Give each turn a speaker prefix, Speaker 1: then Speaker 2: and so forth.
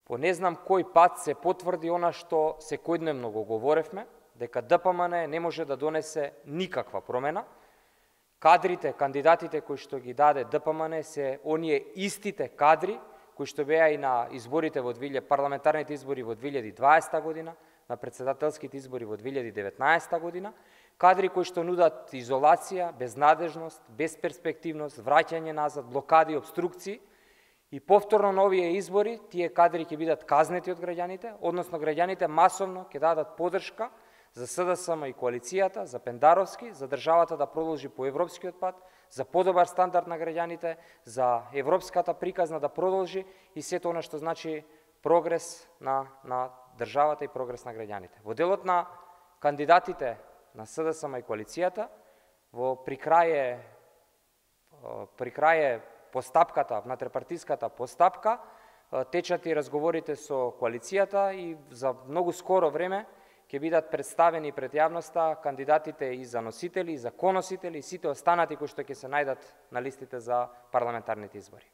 Speaker 1: По не знам кој пат се потврди она што секојдневно го говоревме, дека ДПМН не може да донесе никаква промена. Кадрите, кандидатите кои што ги даде ДПМН се оние истите кадри кои што беа и на изборите парламентарните избори во 2020 година, на председателските избори во 2019 година, кадри кои што нудат изолација, безнадежност, безперспективност, враќање назад, блокади, обструкции. И повторно на овие избори, тие кадри ќе бидат казнети од граѓаните, односно граѓаните масовно ќе дадат поддршка за СДСМ и коалицијата, за Пендаровски, за државата да продолжи по европскиот пат, за подобар стандард на граѓаните, за европската приказна да продолжи и сето она што значи прогрес на државата и прогрес на граѓаните. Во делот на кандидатите на СДСМ и коалицијата, при крај постапката, внатрепартиската постапка, течат и разговорите со коалицијата и за многу скоро време ќе бидат представени пред јавноста кандидатите и за носители, и за коносители, и сите останати кои што ќе се најдат на листите за парламентарните избори.